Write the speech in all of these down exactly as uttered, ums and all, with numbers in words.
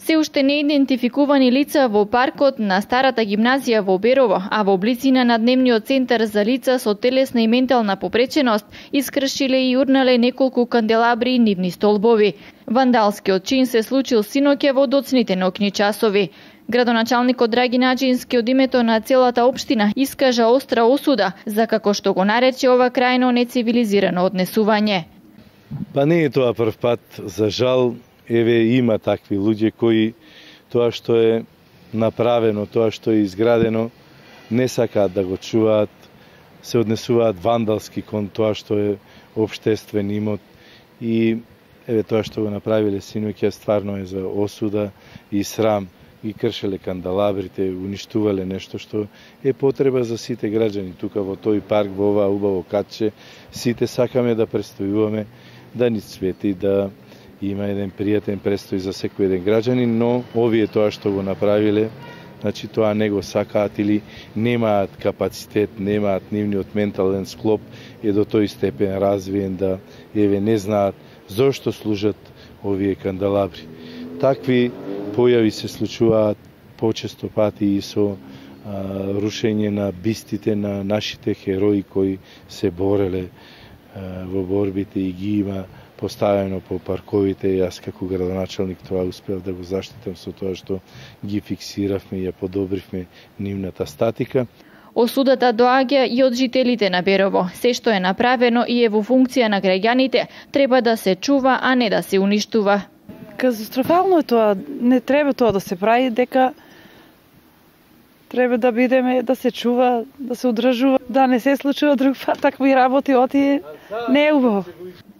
Се уште неидентификувани лица во паркот на старата гимназија во Берово, а во близина на дневниот центар за лица со телесна и ментална попреченост искршиле и урнале неколку канделабри и нивни столбови. Вандалскиот чин се случил синоќа во доцните ноќни часови. Градоначалникот Драги Наџински од името на целата општина искажа остра осуда за, како што го нарече, ова крајно нецивилизирано однесување. Па не е тоа прв пат, за жал. Еве има такви луѓе кои тоа што е направено, тоа што е изградено, не сакаат да го чуваат, се однесуваат вандалски кон тоа што е општествен имот и еве тоа што го направиле синоќа стварно е за осуда и срам. И кршеле канделабрите, уништувале нешто што е потреба за сите граѓани тука во тој парк, во ова убаво катче. Сите сакаме да престојуваме, да ни цвети, да има еден пријатен престој за секој еден граѓанин, но овие тоа што го направиле, значи тоа не го сакаат или немаат капацитет, немаат нивниот ментален склоп е до тој степен развиен да еве не знаат зошто служат овие канделабри. Такви појави се случуваат почесто пати и со а, рушење на бистите на нашите херои кои се бореле а, во борбите и ги има поставено по парковите. Јас како градоначалник тоа успеав да го заштитам со тоа што ги фиксиравме и ја подобривме нивната статика. Осудата доаѓа и од жителите на Берово. Се што е направено и е во функција на граѓаните треба да се чува, а не да се уништува. Катастрофално е тоа, не треба тоа да се прави, дека треба да бидеме, да се чува, да се одржува, да не се случува друг пат такви работи, оти не е убаво.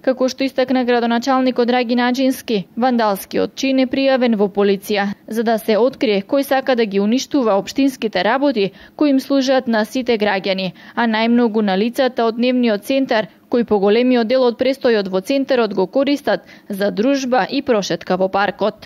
Како што истакна градоначалникот Драги Наџински, вандалскиот чин е пријавен во полиција, за да се открие кој сака да ги уништува општинските работи кои им служат на сите граѓани, а најмногу на лицата од дневниот центар, кои поголемиот дел од престојот во центарот го користат за дружба и прошетка во паркот.